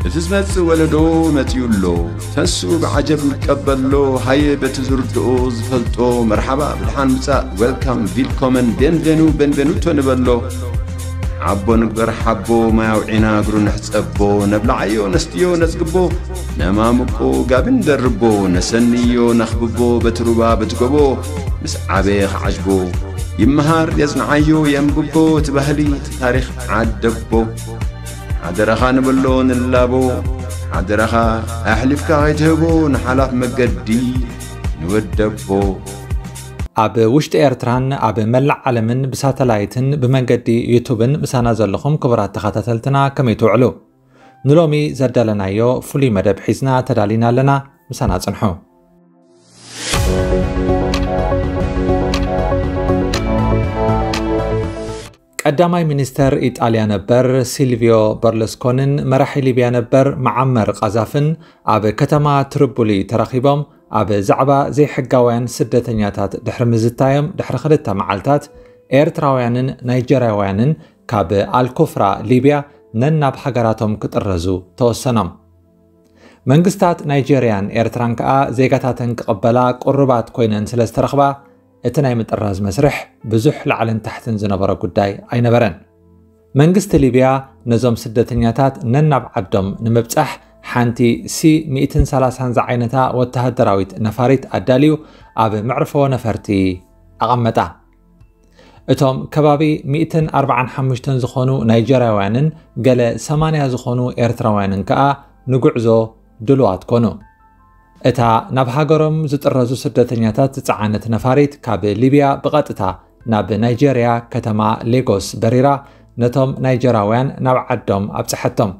እቲ ዝመጽእ ወለዶ መጺኡ ኣሎ። ተንስኡ ብዓጀብ ንቀበሎ። ሃየ በቲ ዝርድኦ ዝፈልጦ መርሓባ ብድሓን ምጻእ፣ ዌልካም፣ ቪልኮመን፣ ቤንቬኑ፣ ቤንቬኑቶ ንበሎ። ሓቦ ንግበር ሓቦ፣ ማይ ኣውዒና እግሩ ንሕጸቦ። ነብልዓዮ ነስትዮ ነጽግቦ፣ ነማሙቆ ጋቢ ንደርቦ። ነሰንዮ ነኽብቦ በቲ ሩባ በቲ ጎቦ፣ ምስ ዓበየ ክዓጅቦ። ይመሃር የጽንዓዮ የንብቦ፣ እቲ ባህሊ እቲ ታሪኽ ዓደቦ። ሓደራኻ ንበሎ ንላቦ፣ ሓደራኻ ኣሕሊፍካ ከይትህቦ ንሓላፍ መገዲ ንወደቦ። ኣብ ውሽጢ ኤርትራን ኣብ መላእ ዓለምን ብሳተላይትን ብመንገዲ ዩቱብን ምሳና ዘለኹም ክቡራት ተኸታተልትና ከመይ ትውዕሉ? ንሎሚ ዘዳለናዮ ፍሉይ መደብ ሒዝና ተዳሊና ኣለና። ምሳና ጽንሑ። ቀዳማይ ሚኒስተር ኢጣልያ ነበር ሲልቪዮ በርሉስኮንን መራሒ ሊብያ ነበር መዓመር ቃዛፍን ኣብ ከተማ ትሪፖሊ ተራኺቦም ኣብ ዛዕባ ዘይሕጋውያን ስደተኛታት ድሕሪ ምዝታዮም ድሕሪ ክልተ መዓልታት ኤርትራውያንን ናይጀርያውያንን ካብ ኣልኮፍራ ሊብያ ነናብ ሃገራቶም ክጥረዙ ተወሰኖም። መንግስታት ናይጀርያን ኤርትራን ከኣ ዜጋታተን ክቕበላ ቅሩባት ኮይነን ስለ ዝተረኽባ እቲ ናይ ምጥራዝ መስርሕ ብዙሕ ላዕልን ታሕትን ዝነበሮ ጉዳይ ኣይነበረን። መንግስቲ ሊብያ ነዞም ስደተኛታት ነናብ ዓዶም ንምብጻሕ ሓንቲ ሲ ሚእትን ሰላሳን ዝዓይነታ ወተሃደራዊት ነፋሪት ኣዳልዩ ኣብ መዕርፎ ነፈርቲ ኣቐመጣ። እቶም ከባቢ ሚእትን ኣርባዓን ሓሙሽተን ዝኾኑ ናይጀርያውያንን ገለ ሰማንያ ዝኾኑ ኤርትራውያንን ከኣ ንጉዕዞ ድሉዋት ኮኑ። እታ ናብ ሃገሮም ዝጥረዙ ስደተኛታት ዝጸዓነት ነፋሪት ካብ ሊብያ ብቐጥታ ናብ ናይጀርያ ከተማ ሌጎስ በሪራ ነቶም ናይጀራውያን ናብ ዓዶም ኣብጽሐቶም።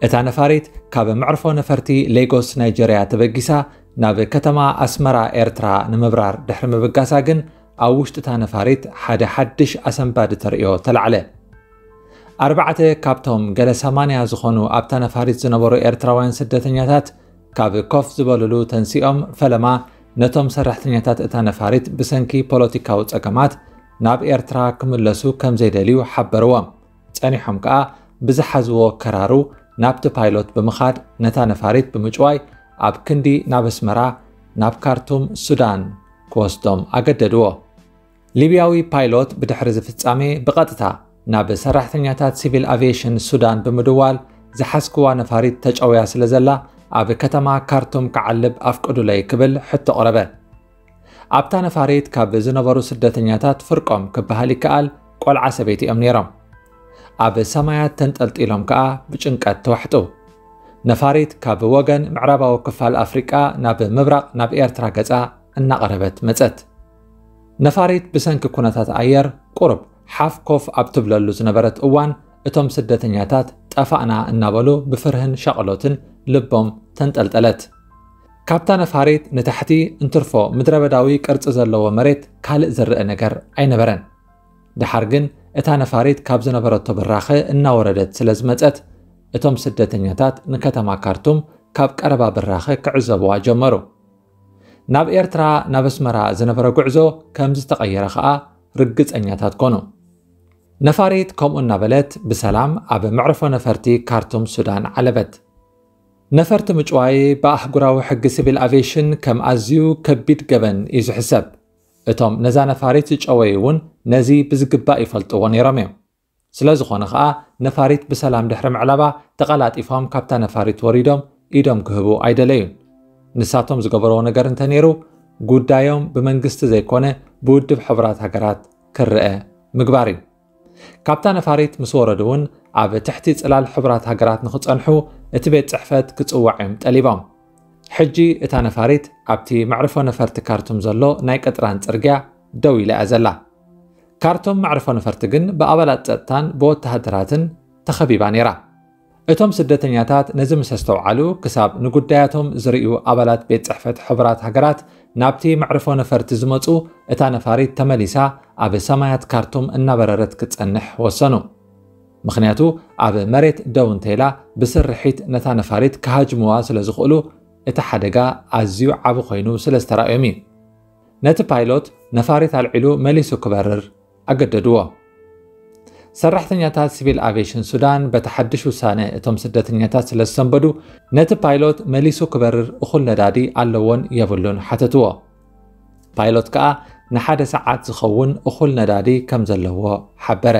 እታ ነፋሪት ካብ መዕርፎ ነፈርቲ ሌጎስ ናይጀርያ ተበጊሳ ናብ ከተማ ኣስመራ ኤርትራ ንምብራር ድሕሪ ምብጋሳ ግን ኣብ ውሽጢ እታ ነፋሪት ሓደ ሓድሽ ኣሰንባዲ ተርእዮ ተላዕለ። ኣርባዕተ ካብቶም ገለ ሰማንያ ዝኾኑ ኣብታ ነፋሪት ዝነበሩ ኤርትራውያን ስደተኛታት ካብ ኮፍ ዝበሉሉ ተንሲኦም ፈለማ ነቶም ሰራሕተኛታት እታ ነፋሪት ብሰንኪ ፖለቲካዊ ጸገማት ናብ ኤርትራ ክምለሱ ከም ዘይደልዩ ሓበርዎም። ጸኒሖም ከኣ ብዝሓዝዎ ከራሩ ናብቲ ፓይሎት ብምኻድ ነታ ነፋሪት ብምጭዋይ ኣብ ክንዲ ናብ ኣስመራ ናብ ካርቱም ሱዳን ክወስዶም ኣገደድዎ። ሊብያዊ ፓይሎት ብድሕሪ እዚ ፍጻሜ ብቐጥታ ናብ ሰራሕተኛታት ሲቪል ኣቪየሽን ሱዳን ብምድዋል ዝሓዝክዋ ነፋሪት ተጨውያ ስለ ዘላ ኣብ ከተማ ካርቱም ክዓልብ ኣፍቅዱለይ ክብል ሕቶ ቕረበ። ኣብታ ነፋሪት ካብ ዝነበሩ ስደተኛታት ፍርቆም ክበሃል ይከኣል ቆልዓ ሰበይቲ እዮም ነይሮም። ኣብ ሰማያት ተንጠልጢሎም ከኣ ብጭንቀት ተዋሕጡ። ነፋሪት ካብ ወገን ምዕራባዊ ክፋል ኣፍሪቃ ናብ ምብራቕ ናብ ኤርትራ ገጻ እናቐረበት መጸት። ነፋሪት ብሰንኪ ኩነታት ኣየር ቁሩብ ሓፍ ኮፍ ኣብ ትብለሉ ዝነበረት እዋን እቶም ስደተኛታት ጠፋእና እናበሉ ብፍርህን ሻቕሎትን ልቦም ተንጠልጠለት። ካብታ ነፋሪት ንታሕቲ እንትርፎ ምድረበዳዊ ቅርጺ ዘለዎ መሬት ካልእ ዝረአ ነገር ኣይነበረን። ደሓር ግን እታ ነፋሪት ካብ ዝነበረቶ ብራኸ እናወረደት ስለ ዝመጸት እቶም ስደተኛታት ንከተማ ካርቱም ካብ ቀረባ ብራኸ ክዕዘብዋ ጀመሩ። ናብ ኤርትራ ናብ ኣስመራ ዝነበረ ጉዕዞ ከም ዝተቐየረ ኸኣ ርግጸኛታት ኮኑ። ነፋሪት ከምኡ እናበለት ብሰላም ኣብ መዕርፎ ነፈርቲ ካርቱም ሱዳን ዓለበት። ነፈርቲ ምጭዋይ ብኣህጉራዊ ሕጊ ሲቪል ኣቪየሽን ከም ኣዝዩ ከቢድ ገበን እዩ ዝሕሰብ። እቶም ነዛ ነፋሪት ዝጨወዩ እውን ነዚ ብዝግባእ ይፈልጥዎ ነይሮም እዮም። ስለ ዝኾነ ኸኣ ነፋሪት ብሰላም ድሕሪ ምዕላባ ተቐላጢፎም ካብታ ነፋሪት ወሪዶም ኢዶም ክህቡ ኣይደለዩን። ንሳቶም ዝገበርዎ ነገር እንተነይሩ ጉዳዮም ብመንግስቲ ዘይኮነ ብውድብ ሕቡራት ሃገራት ክረአ ምግባር እዩ። ካብታ ነፋሪት ምስ ወረዱ እውን ኣብ ትሕቲ ጽላል ሕቡራት ሃገራት ንኽጸንሑ እቲ ቤት ጽሕፈት ክጽዋዕ እዮም ጠሊቦም። ሕጂ እታ ነፋሪት ኣብቲ መዕርፎ ነፈርቲ ካርቱም ዘሎ ናይ ቅጥራን ጽርግያ ደው ኢላ እያ ዘላ። ካርቱም መዕርፎ ነፈርቲ ግን ብኣባላት ጸጥታን ብወተሃደራትን ተኸቢባ ነይራ። እቶም ስደተኛታት ነዚ ምስ ኣስተውዓሉ ክሳብ ንጉዳያቶም ዝርእዩ ኣባላት ቤት ጽሕፈት ሕቡራት ሃገራት ናብቲ መዕርፎ ነፈርቲ ዝመጹ እታ ነፋሪት ተመሊሳ ኣብ ሰማያት ካርቱም እናበረረት ክትጸንሕ ወሰኑ። ምኽንያቱ ኣብ መሬት ደው እንተኢላ ብስርሒት ነታ ነፋሪት ክሃጅምዋ ስለ ዝኽእሉ እቲ ሓደጋ ኣዝዩ ዓቢ ኮይኑ ስለ ዝተራእዮም እዩ። ነቲ ፓይሎት ነፋሪት ኣልዒሉ መሊሱ ክበርር ኣገደድዎ። ሰራሕተኛታት ሲቪል ኣቪየሽን ሱዳን በቲ ሓድሽ ውሳነ እቶም ስደተኛታት ስለ ዝሰንበዱ፣ ነቲ ፓይሎት መሊሱ ክበርር እኹል ነዳዲ ኣለዎን የብሉን ሓተትዎ። ፓይሎት ከኣ ንሓደ ሰዓት ዝኸውን እኹል ነዳዲ ከም ዘለዎ ሓበረ።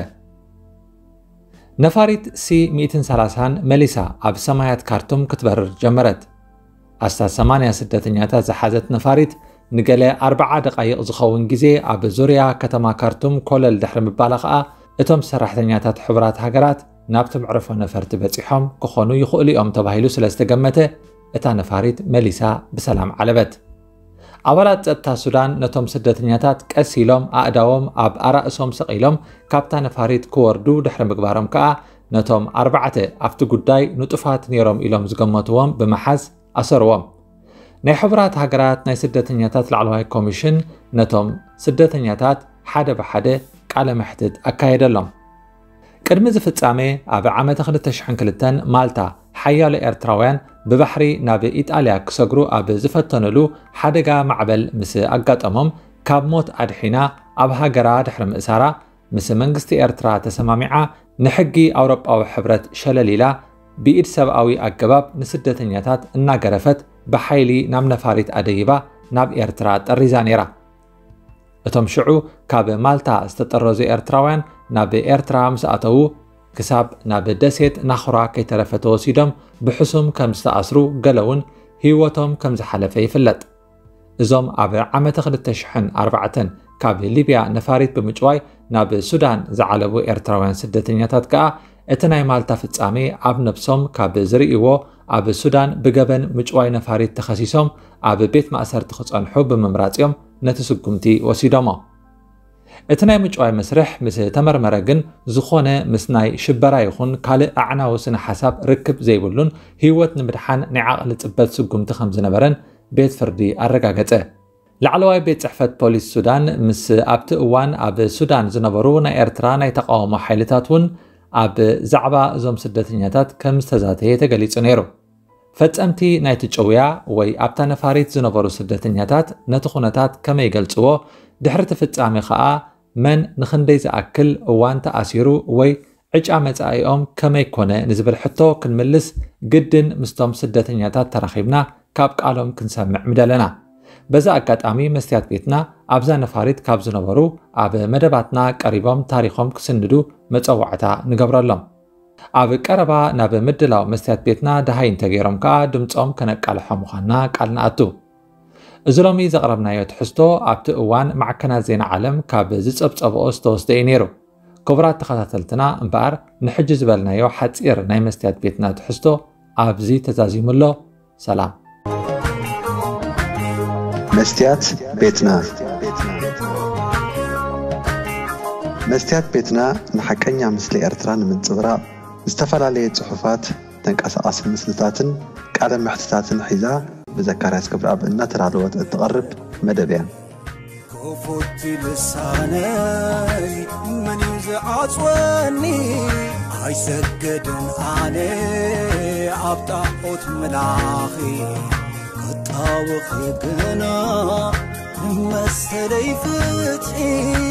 ነፋሪት ሲ ሚእትን ሰላሳን መሊሳ ኣብ ሰማያት ካርቱም ክትበርር ጀመረት። ኣስታት ሰማንያ ስደተኛታት ዝሓዘት ነፋሪት ንገለ ኣርብዓ ደቓይቕ ዝኸውን ግዜ ኣብ ዙርያ ከተማ ካርቱም ኮለል ድሕሪ ምባላ ኸኣ፣ እቶም ሰራሕተኛታት ሕቡራት ሃገራት ናብቲ መዕርፎ ነፈርቲ በጺሖም ክኾኑ ይኽእሉ እዮም ተባሂሉ ስለ ዝተገመተ፣ እታ ነፋሪት መሊሳ ብሰላም ዓለበት። ኣባላት ጸጥታ ሱዳን ነቶም ስደተኛታት ቀስ ኢሎም ኣእዳዎም ኣብ ኣራእሶም ሰቒሎም ካብታ ነፋሪት ክወርዱ ድሕሪ ምግባሮም ከኣ፣ ነቶም ኣርባዕተ ኣብቲ ጉዳይ ንጡፋት ነይሮም ኢሎም ዝገመትዎም ብምሓዝ ኣሰርዎም። ናይ ሕቡራት ሃገራት ናይ ስደተኛታት ላዕለዋይ ኮሚሽን ነቶም ስደተኛታት ሓደ ብሓደ ቃለ መሕትት ኣካየደሎም። ቅድሚ እዚ ፍጻሜ፣ ኣብ ዓመተ ክልተ ሽሕን ክልተን ማልታ ሓያሎ ኤርትራውያን ብባሕሪ ናብ ኢጣልያ ክሰግሩ ኣብ ዝፈተኑሉ ሓደጋ ማዕበል ምስ ኣጋጠሞም፣ ካብ ሞት ኣድሒና ኣብ ሃገራ ድሕሪ ምእሳራ፣ ምስ መንግስቲ ኤርትራ ተሰማሚዓ ንሕጊ ኣውሮጳዊ ሕብረት ሸለል ኢላ ብኢድ ሰብኣዊ ኣገባብ ንስደተኛታት እናገረፈት ብሓይሊ ናብ ነፋሪት ኣደይባ ናብ ኤርትራ ጠሪዛ ነይራ። እቶም ሽዑ ካብ ማልታ ዝተጠረዙ ኤርትራውያን ናብ ኤርትራ ምስ ኣተዉ፣ ክሳብ ናብ ደሴት ናኹራ ከይተረፈ ተወሲዶም ብሕሱም ከም ዝተኣስሩ፣ ገለ እውን ህይወቶም ከም ዝሓለፈ ይፍለጥ። እዞም ኣብ ዓመተ ክልተ ሽሕን ኣርባዕተን ካብ ሊብያ ነፋሪት ብምጭዋይ ናብ ሱዳን ዝዓለቡ ኤርትራውያን ስደተኛታት ከኣ፣ እቲ ናይ ማልታ ፍጻሜ ኣብ ነብሶም ካብ ዝርእይዎ፣ ኣብ ሱዳን ብገበን ምጭዋይ ነፋሪት ተኸሲሶም ኣብ ቤት ማእሰርቲ ክጸንሑ ብምምራጽ እዮም ነቲ ስጉምቲ ወሲዶሞ። እቲ ናይ ምጭዋይ መስርሕ ምስ ተመርመረ ግን፣ ዝኾነ ምስ ናይ ሽበራ ይኹን ካልእ ኣዕናዊ ስነ ሓሳብ ርክብ ዘይብሉን ህይወት ንምድሓን ናይ ዓቕሊ ጽበት ስጉምቲ ከም ዝነበረን ቤት ፍርዲ ኣረጋገጸ። ላዕለዋይ ቤት ጽሕፈት ፖሊስ ሱዳን ምስ ኣብቲ እዋን ኣብ ሱዳን ዝነበሩ ናይ ኤርትራ ናይ ተቃውሞ ሓይልታት እውን ኣብ ዛዕባ እዞም ስደተኛታት ከም ዝተዛተየ ተገሊጹ ነይሩ። ፈጸምቲ ናይቲ ጭውያ ወይ ኣብታ ነፋሪት ዝነበሩ ስደተኛታት ነቲ ኩነታት ከመይ ይገልጽዎ፣ ድሕሪ እቲ ፍጻሜ ኸኣ መን ንኽንደይ ዝኣክል እዋን ተኣሲሩ ወይ ዕጫ መጻኢኦም ከመይ ኮነ ንዝብል ሕቶ ክንምልስ ግድን ምስቶም ስደተኛታት ተራኺብና ካብ ቃሎም ክንሰምዕ ምደለና። በዚ ኣጋጣሚ መስትያት ቤትና ኣብዛ ነፋሪት ካብ ዝነበሩ ኣብ መደባትና ቀሪቦም ታሪኾም ክስንዱ መጸዋዕታ ንገብረሎም። ኣብ ቀረባ ናብ ምድላው መስትያት ቤትና ደሃይ እንተገይሮም ከኣ ድምጾም ከነቃልሖ ምዃንና ቃል ንኣቱ። እዚ ሎሚ ዘቕረብናዮ ትሕዝቶ ኣብቲ እዋን ማዕከናት ዜና ዓለም ካብ ዝጸብጸብኦ ዝተወስደ እዩ ነይሩ። ክቡራት ተኸታተልትና እምበኣር ንሕጂ ዝበልናዮ ሓጺር ናይ መስትያት ቤትና ትሕዝቶ ኣብዚ ተዛዚሙ ኣሎ። ሰላም። መስትያት ቤትና። መስትያት ቤትና ንሓቀኛ ምስሊ ኤርትራ ንምንጽብራቕ ዝተፈላለየ ጽሑፋት፣ ተንቀሳቓሲ ምስልታትን ቃለ መሕትታትን ሒዛ ብዘካርያስ ክብረኣብ እናተዳለወት እትቐርብ መደብ እያ። ክፉት ልሳነይ መን እዩ ዝዓጽወኒ? ኣይሰገድን ኣነ ኣብ ጣዖት ምላኺ ክጣወኺ ግና መሰለይ ፍትሒ